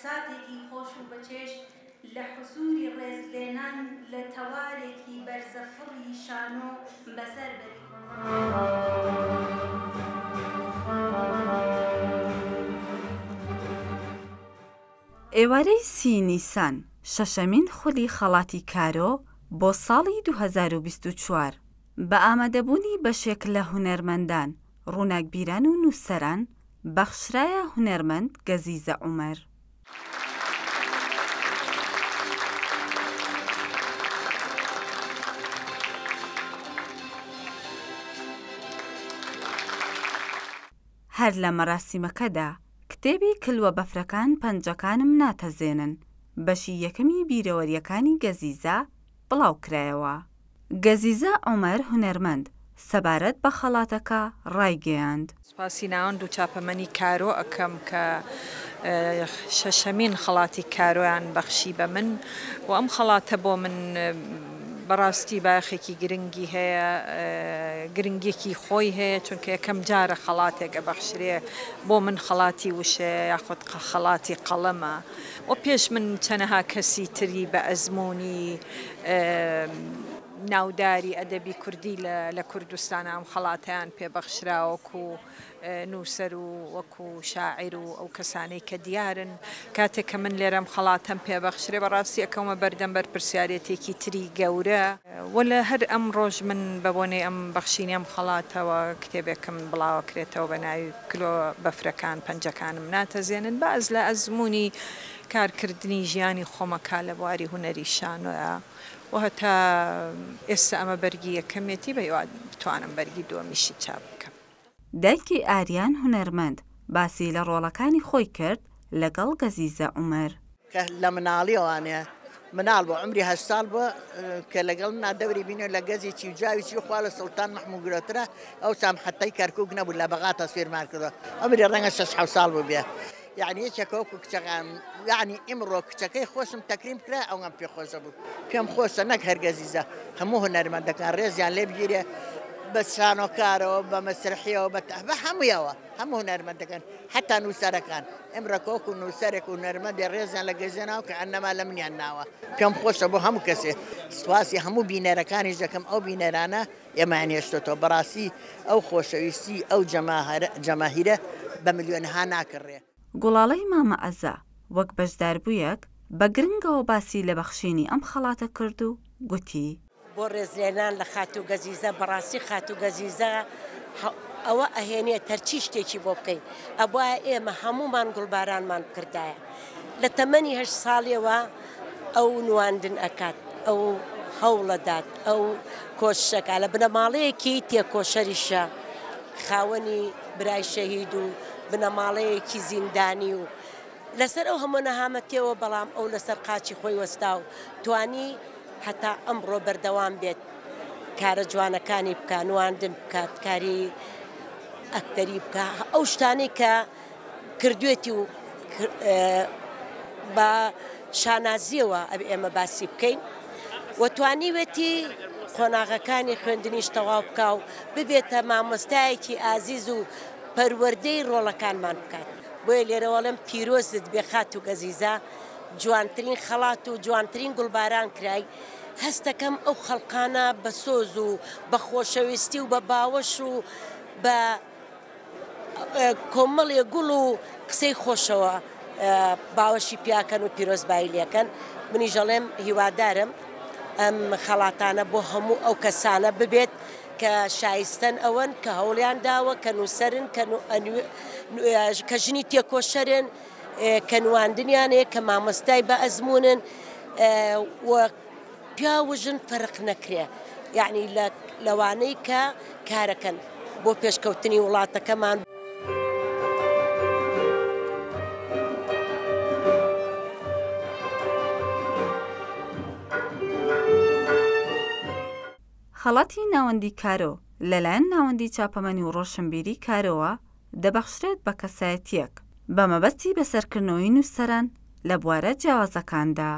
ساتێکی خۆش و بەچێژ لە حوزوری ڕێزلێنان لە تەوارێکی بەرزەفڕی شانۆ بەسەر بەری. ئێوارەی سی نیسان، شەشەمین خولی خەڵاتی کارۆ بۆ ساڵی 2024، بە ئامادەبوونی بەشێک لە هونەرمەندان، ڕووناکبیران و نووسەران، بەخشرایە هونەرمەند گەزیزە عومەر. هەر لە مەراسیمەکەدا کتێبی کلوە بەفرەکان پەنجەکانم ناتەزێنن بەشی یەکەمی بیرەوەرییەکانی گەزیزە بڵاوکرایەوە. گەزیزە عومەر هونەرمەند سەبارەت بە خەڵاتەکە ڕایگەیاند. سوپاسی ناوەند و چاپەمەنی کارۆ ئەکەم کە شەشەمین خەڵاتی کارۆیان بەخشی بە من و ئەم خەڵاتە بۆ من بەڕاستی بایەخێکی گرنگی هەیە گرنگیەکی خۆی هەیە چونکە یەکەم جارە خەڵاتێک ئەبەخشرێ بۆ من خەڵاتی وشەیە یاخود خەڵاتی قەڵەمە و پێش من چەنەها کەسی تری بە ئەزموونی ناوداری ئەدەبی کوردی لە کوردستانا ئەم خەڵاتەیان پێ بەخشرا وەکو نووسەر و وەکو شاعیر و ئەو کەسانەی کە دیارن. کاتێک کە من لێرە ئەم خەڵاتەم پێ بەخشرێ بەڕاستی ئەکەومە بەردەم بەرپرسیارێتیەکی تری گەورە. وە لە هەر ئەمڕۆش من بە بۆنەی ئەم بەخشینی ئەم خەڵاتەوە کتێبێکم بڵاوەکرێتەوە بە ناوی کلۆ بەفرەکان پەنجەکانم ناتەزێنن باس لە ئەزموونی کارکردنی ژیانی خۆمەکا لە بواری هونەری شانۆیا. و هەتا ئێستا ئەمە بەرگی یەکەمیەتی بە هیوا بتوانم بەرگی دووەمیشی چاپ بکەم. دایکی ئاریان هونەرمەند باسی لە ڕۆڵەکانی خۆی کرد لەگەڵ گەزیزە عومەر. کە لە مناڵیەوانێ مناڵ بوو عومری هەشت ساڵ بوو کە لەگەڵ منا دەوری بینیوە لە گەزی چی و جاوی چی خوا لە سوڵتان مەحموو گرۆترە ئەوسا محەتەی کەرکووک نەبوو لە بەغا تەسویرمان کردووە عومری ڕەنگە شەش حەوت ساڵ بووبێ یەعنی یەکێکە وەکو کچەکان یەعنی ئیمڕۆ کچەکەی خۆشم تەکریم کرا ئەوەم پێ خۆشە بوو پێم خۆشە نەک هەر گەزیزە هەموو هونەرمەندەکان ڕێزیان لێ بگیرێ بە شانۆکارەوە بە مەسرحیەوە بە بە هەموویەوە هەموو هونەرمەندەکان حتا نووسەرەکان ئمڕۆ وەکو نووسەرێک و هونەرمەندێ ڕێزیان لە گەزیزە ناوە کە ئەنەما لە منیان ناوە پێم خۆشە بۆ هەموو کەسێ سوپاسی هەموو بینەرەکانیش دەکەم ئەو بینەرانە ئێمەیان هێشتۆتەوە بەڕاستی ئەو خۆشەویستی ئەو جەماهیرە بە ملیۆنەها ناکڕێ. گوڵاڵەی مامە عەزە وەک بەشداربوویەک بە گرنگەوە باسی لە بەخشینی ئەم خەڵاتە کرد و گوتی. بۆ ڕێزلێنان لە خاتوو گەزیزە، بەڕاستی خاتوو گەزیزە ئەوە ئەهێنێت هەرچی شتێکی بۆ بکەین ئەبوایە ئێمە هەموومان گوڵبارانمان بکردایە. لە تەمەنی هەشت ساڵیەوە ئەو نواندن ئەکات، ئەو هەوڵەدات، ئەو کۆششەکا، لە بنەماڵەیەکی تێکۆشەریشە، خاوەنی برای شەهید و بنەماڵەیەکی زیندانی و لەسەر ئەو هەموو نەهامەتیەوە، بەڵام ئەو لەسەر قاچی خۆی وەستا و توانی هەتا ئەمڕۆ بەردەوام بێت کارە جوانەکانی بکا، نواندن بکات، کاری ئەکتەری بکا، ئەو شتانەی کە کردوێتی و بە شانازیەوە ئەبێ ئێمە باسی بکەین و توانیوێتی قۆناغەکانی خوێندنیش تەواو بکا و ببێتە مامۆستایەکی ئازیز و پەروەردەی ڕۆڵەکانمان بکات. بۆیە لێرەوە ئەڵێم پیرۆزت بێ خاتوو گەزیزە، جوانترین خەڵات و جوانترین گوڵباران کرای، هەستەکەم ئەو خەڵقانە بە سۆز و بە خۆشەویستی و بە باوەش و بە کۆمەڵێ گوڵ و قسەی خۆشەوە باوەشی پیاکەن و پیرۆزبایی لێکەن، منیش ئەڵێم هیوادارم ئەم خەڵاتانە بۆ هەموو ئەو کەسانە ببێت کە شایستەن ئەوەن کە هەوڵیان داوە کە نووسەرن کە ژنی تێکۆشەرن کە نواندنیان هەیە کە مامۆستای بە ئەزموونن و پیاو و ژن فەرق نەکرێ یعنی لەوانەی کە کارەکەن بۆ پێشکەوتنی وڵاتەکەمان. خەڵاتی ناوەندی کارۆ لەلایەن ناوەندی چاپەمەنی و ڕۆشنبیری کارۆوە دەبەخشرێت بە کەسایەتییەک بە مەبەستی بەسەرکردنەوەی نووسەران لە بوارە جیاوازەکاندا.